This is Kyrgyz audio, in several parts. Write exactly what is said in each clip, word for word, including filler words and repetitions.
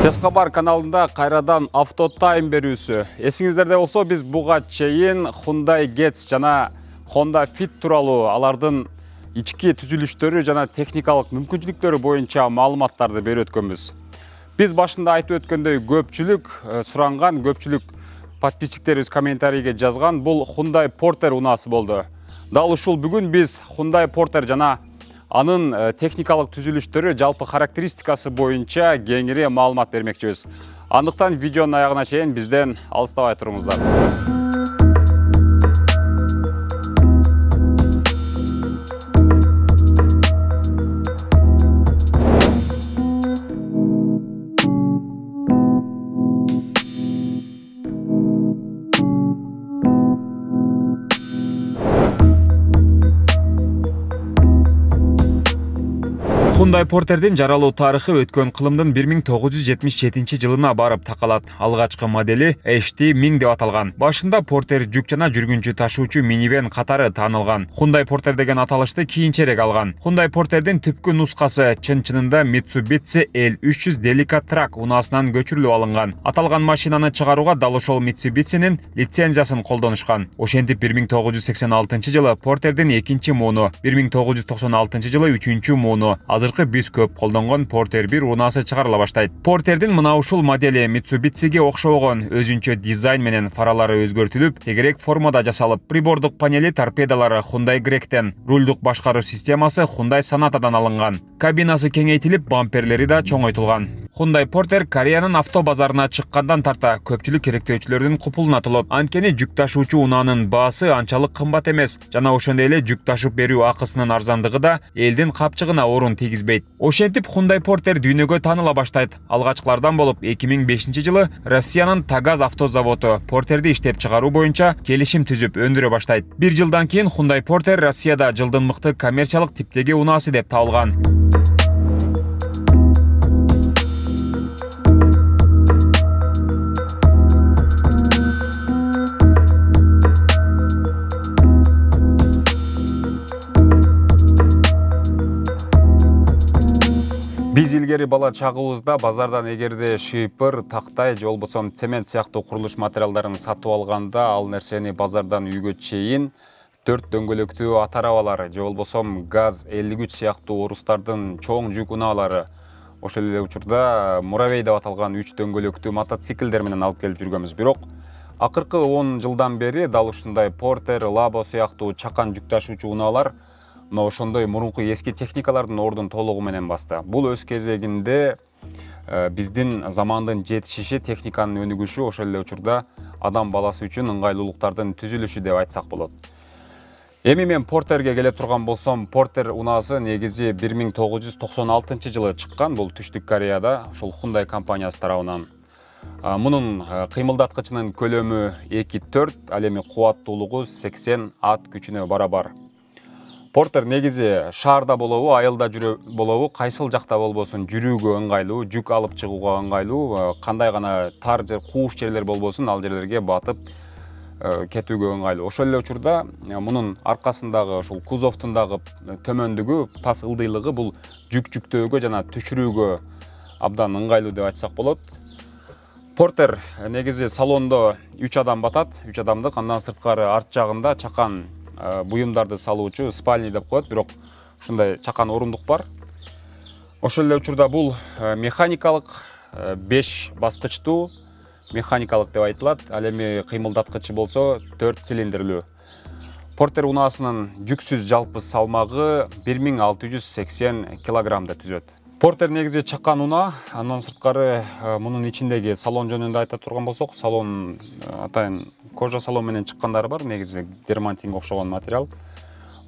Тез кабар каналында кайрадан автотайм берүүсү. Эсиңиздерде болсо, биз буга чейин Hyundai Getz жана Honda Fit тууралуу алардын ички түзүлүштөрү жана техникалык мүмкүнчүлүктөрү боюнча маалыматтарды берип өткөнбүз. Биз башында айтып өткөндөй көпчүлүк суранган, көпчүлүк подписчиктерибиз комментарийге жазган бул Hyundai Porter унаасы болду. Дал ушул бүгүн биз Hyundai Porter жана анын техникалык түзүлүштөрү, жалпы характеристикасы боюнча кеңири маалымат бермекчибиз. Андыктан видеонун аягына чейин бизден алыстабай туруңуздар. Hyundai Porter'дин жаралуу тарыхы өткөн кылымдын бир миң тогуз жүз жетимиш жетинчи жылына барып такалат. Алгачкы модели H T миң деп аталган. Башында Porter жүк жана жүргүнчү ташуучу минивэн катары таанылган. Hyundai Porter деген аталышты кийинчерээк алган. Hyundai Porter'дин түпкү нускасы чын-чынында Mitsubishi L үч жүз Delica Truck унаасынан көчүрүлүп алынган. Аталган машинаны чыгарууга дал ошол Mitsubishi'нин лицензиясын колдонушкан. Ошентип бир миң тогуз жүз сексен алтынчы жылы Porter'дин экинчи мууну, бир миң тогуз жүз токсон алтынчы жылы үчүнчү мууну, азыркы биз көп колдонгон Porter бир унаасы чыгарыла баштайт. Porter'дин мына ушул модели Mitsubishi'ге окшобогон өзүнчө дизайн менен фаралары өзгөртүлүп, тегерек формада жасалып, прибордук панели торпедалары Hyundai Grecktен, рулдук башкаруу системасы Hyundai Sonataдан алынган. Кабинасы кеңейтилип, бамперлери да чоңойтулган. Hyundai Porter Кореянын авто базарына чыккандан тарта көпчүлүк керектөөчүлөрдүн купулуна толот. Анткени жүк ташуучу унаанын баасы анчалык кымбат эмес, жана ошондой эле жүк ташып берүү акысынын арзандыгы да элдин капчыгына орун тийгизбейт. Ошентип Hyundai Porter дүйнөгө тааныла баштайт. Алгачкылардан болуп эки миң бешинчи жылы Россиянын Tagaz автозаводу Porter'ди иштеп чыгаруу боюнча келишим түзүп өндүрө баштайт. Бир жылдан кийин Hyundai Porter Россияда жылдын мыкты коммерциялык типтеги унаасы деп табылган. Биз илгери бала чагыбызда базардан эгерде шыйпыр, тактай же болбосо цемент сыяктуу курулуш материалдарын сатып алганда, ал нерсени базардан үйгө чейин төрт дөңгөлөктүү ат арабалар же болбосо ГАЗ элүү үч сыяктуу орустардын чоң жүк унаалары, ошол эле учурда муравей деп аталган үч дөңгөлөктүү мотоциклдер менен алып келип жүргөнбүз. Бирок акыркы он жылдан бери дал ушундай Porter, Labo сыяктуу чакан жүк ташуучу унаалар мына ошондой мурунку эски техникалардын ордун толугу менен басты. Бул өз кезегинде биздин замандын жетишиши, техниканын өнүгүшү, ошол эле учурда адам баласы үчүн ыңгайлуулуктардын түзүлүшү деп айтсак болот. Эми мен Porter'ге келе турган болсом, Porter унаасы негизи бир миң тогуз жүз токсон алтынчы жылы чыккан. Бул Түштүк Кореяда, ошол Hyundai компаниясы тарабынан. Мунун кыймылдаткычынын көлөмү эки төрт, ал эми кубаттуулугу сексен ат күчүнө барабар. Porter негизи шаарда болобу, айылда жүрө болобу, кайсыл жакта болбосун жүрүүгө ыңгайлуу, жүк алып чыгууга ыңгайлуу, кандай гана тар же кууш жерлер болбосун, ал жерлерге батып кетүүгө ыңгайлуу. Ошол эле учурда мунун аркасындагы ошол кузовдун дагы төмөндүгү, пас ылдыйлыгы бул жүк жүктөөгө жана түшүрүүгө абдан ыңгайлуу деп айтсак болот. Porter негизи салондо үч адам батат, үч адамдык, андан сырткары арт жагында чакан буюмдарды салуучу спальни деп коет, бирок ушундай чакан орундук бар. Ошол эле учурда бул механикалык беш баскычтуу, механикалык деп айтылат. Ал эми кыймылдаткычы болсо төрт цилиндрлүү. Porter унаасынын жүксүз жалпы салмагы бир миң алты жүз сексен килограммды түзөт. Porter негизи чакан унаа, андан сырткары мунун ичиндеги салон жөнүндө айта турган болсок, салон атайын кожа салон менен чыккандары бар, негизи дермантинге окшогон материал.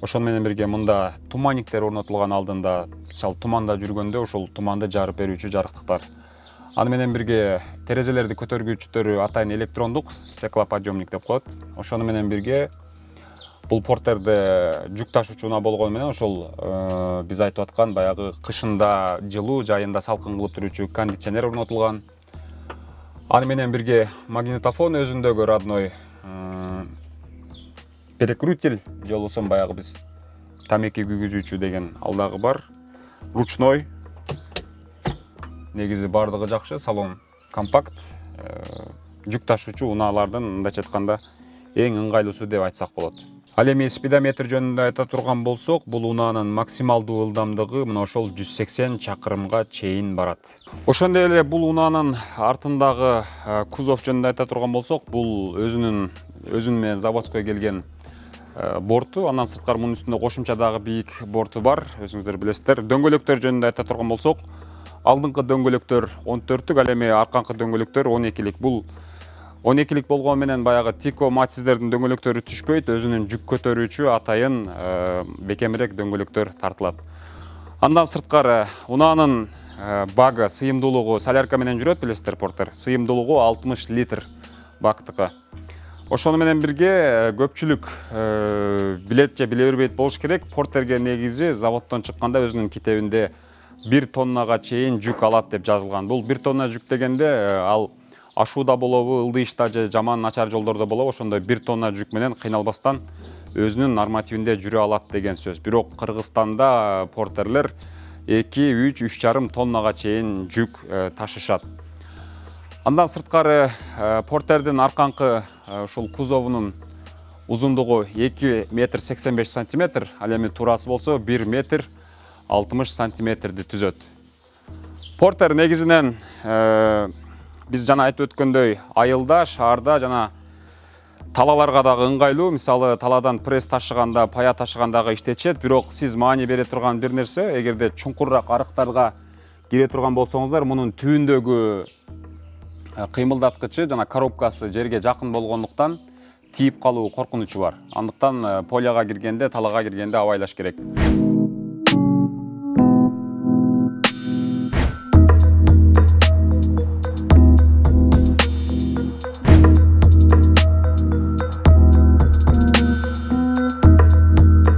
Ошону менен бирге мында туманниктер орнотулган алдында, мисалы туманда жүргөндө ошол туманды жарып берүүчү жарыктыктар. Аны менен бирге терезелерди көтөргүчтөрү атайын электрондук, стеклоподъемник деп коет. Ошону менен бирге бул Porter'де жүк ташуучу унаа болгону менен ошол биз айтып аткан баягы кышында жылуу, жайында салкын кылып туруучу кондиционер орнотулган. Аны менен бирге магнитофон өзүндөгү родной перекрутитель же болбосо баягы биз тамеки күйгүзүүчү деген ал дагы бар. Ручной негизи бардыгы жакшы, салон компакт, жүк ташуучу унаалардын мындайча айтканда эң ыңгайлуусу деп айтсак болот. Ал эми спидометр жөнүндө айта турган болсок, бул унаанын максималдуу ылдамдыгы мына ошол жүз сексен чакырымга чейин барат. Ошондой эле бул унаанын артындагы кузов жөнүндө айта турган болсок, бул өзүнүн өзүнүн менен заводской келген борту, андан сырткары мунун үстүндө кошумча дагы бийик борту бар, өзүңүздөр билесиздер. Дөңгөлөктөр жөнүндө айта турган болсок, алдыңкы дөңгөлөктөр он төрттүк, ал эми арканкы дөңгөлөктөр он экилик. Бул он экилик болгону менен баягы Тико Матиздердин дөңгөлөктөрү түшпөйт, өзүнүн жүк көтөрүүчү атайын бекемирээк дөңгөлөктөр тартылат. Андан сырткары унаанын багы, сыйымдуулугу солярка менен жүрөт, билесиздер порттер. Сыйымдуулугу алтымыш литр бактыкы. Ошону менен бирге көпчүлүк билет же биле бербейт болуш керек. Порттерге негизи заводдон чыкканда өзүнүн китебинде бир тоннага чейин жүк алат деп жазылган. Бул бир тонна жүк дегенде ал ашууда болобу, ылдыйышта же жаман начар жолдордо болобу, ошондой бир тонна жүк менен кыйналбастан өзүнүн нормативинде жүрө алат деген сөз. Бирок Кыргызстанда порттерлер эки, үч, үч жарым тоннага чейин жүк ташышат. Андан сырткары порттердин арканкы ушул кузовунун узундугу эки метр сексен беш сантиметр, ал эми туурасы болсо бир метр алтымыш сантиметрди түзөт. Порттер негизинен биз жана айтып өткөндөй айылда, шаарда жана талаларга дагы ыңгайлуу. Мисалы, таладан пресс ташыганда, пая ташыгандагы иштетишет, бирок сиз маани бере турган бир нерсе, эгерде чуңкурраак арыктарга кире турган болсоңуздар, мунун түбүндөгү кыймылдаткычы жана коробкасы жерге жакын болгондуктан тийип калуу коркунучу бар. Андыктан поляга киргенде, талага киргенде абайлаш керек.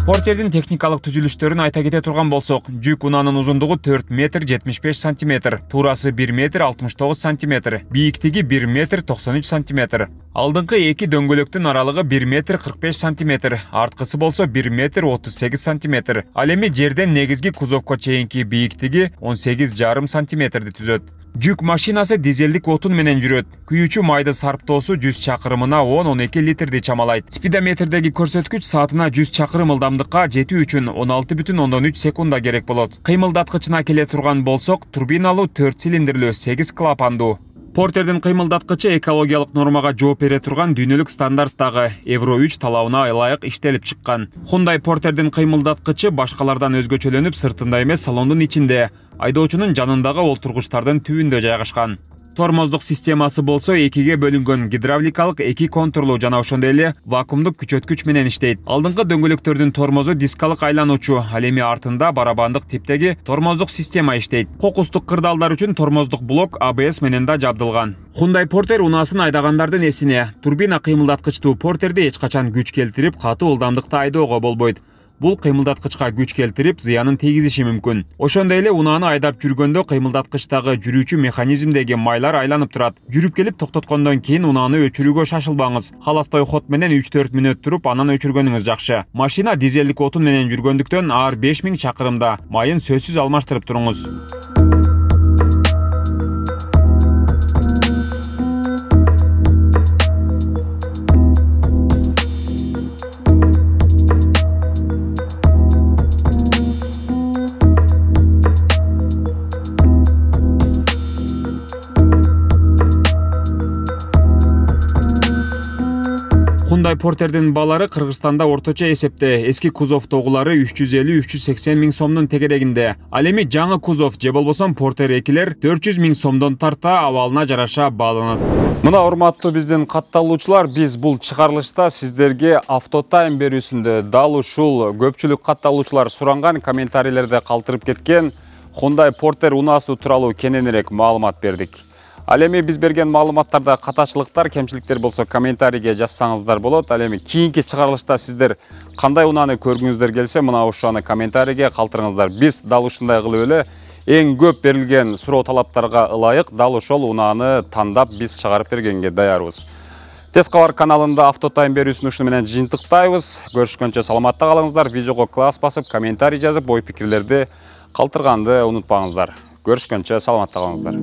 Порттердин техникалык түзүлүштөрүн айта кете турган болсок, жүк унаанын узундугу төрт метр жетимиш беш сантиметр, туурасы бир метр алтымыш тогуз сантиметр, бийиктиги бир метр токсон үч сантиметр. Алдыңкы эки дөңгөлөктүн аралыгы бир метр кырк беш сантиметр, арткысы болсо бир метр отуз сегиз сантиметр. Ал эми жерден негизги кузовко чейинки бийиктиги он сегиз жарым сантиметрди түзөт. Жүк машинасы дизелдик отун менен жүрөт. Күйүүчү майды сарптоосу жүз чакырымына он он эки литрди чамалайт. Спидометрдеги көрсөткүч саатына жүз чакырым ылдамдыкка жетүү үчүн он алты бүтүн ондон үч секунда керек болот. Кыймылдаткычына келе турган болсок, турбиналуу төрт цилиндрлүү сегиз клапандуу. Порттердин кыймылдаткычы экологиялык нормага жооп бере турган дүйнөлүк стандарттагы Евро үч талабына ылайык иштелип чыккан. Hyundai Porterдин кыймылдаткычы башкалардан өзгөчөлөнүп, сыртында эмес, салондун ичинде, айдоочунун жанындагы олтургучтардын түбүндө жайгашкан. Тормоздук системасы болсо экиге бөлүнгөн, гидравликалык эки контурлуу жана ошондой эле вакуумдук күчөткүч менен иштейт. Алдыңкы дөңгөлөктөрдүн тормозу дискалык айлануучу, ал эми артында барабандык типтеги тормоздук система иштейт. Кокустук кырдаалдар үчүн тормоздук блок А Б С менен да жабдылган. Hyundai Porter унаасын айдагандардын эсине, турбина кыймылдаткычтуу Porterди эч качан күч келтирип, катуу ылдамдыкта айдоого болбойт. Бул кыймылдаткычка күч келтирип, зыянын тийгизиши мүмкүн. Ошондой эле унааны айдап жүргөндө кыймылдаткычтагы жүрүүчү механизмдеги майлар айланып турат. Жүрүп келип токтоткондон кийин унааны өчүрүүгө шашылбаңыз. Холостой ход менен үч төрт мүнөт туруп, анан өчүргөнүңүз жакшы. Машина дизелдик отун менен жүргөндүктөн ар беш миң чакырымда майын сөзсүз алмаштырып туруңуз. Hyundai Porterдин баалары Кыргызстанда орточо эсепте эски кузовдогулары үч жүз элүү үч жүз сексен миң сомдун тегерегинде. Ал эми жаңы кузов же болбосо Porter экилер төрт жүз миң сомдон тарта абалына жараша бааланат. Мына урматтуу биздин катталуучулар, биз бул чыгарылышта сиздерге автотайм берүүсүндө дал ушул көпчүлүк катталуучулар суранган, комментарийлерде калтырып кеткен Hyundai Porter унаасы тууралуу кененирээк маалымат бердик. Ал эми биз берген маалыматтарда катачылыктар, кемчиликтер болсо комментарийге жазсаңыздар болот. Ал эми кийинки чыгарылышта сиздер кандай унааны көргүңүздөр келсе, мына ушуны комментарийге калтырыңыздар. Биз дал ушундай кылып эле эң көп берилген суроо талаптарга ылайык дал ошол унааны тандап биз чыгарып бергенге даярбыз. Тез кабар каналында автотайм берүүсүн ушуну менен жыйынтыктайбыз. Көрүшкөнчө саламатта калыңыздар. Видеого класс басып, комментарий жазып, ой пикирлерди калтырганды унутпаңыздар. Көрүшкөнчө саламатта калыңыздар.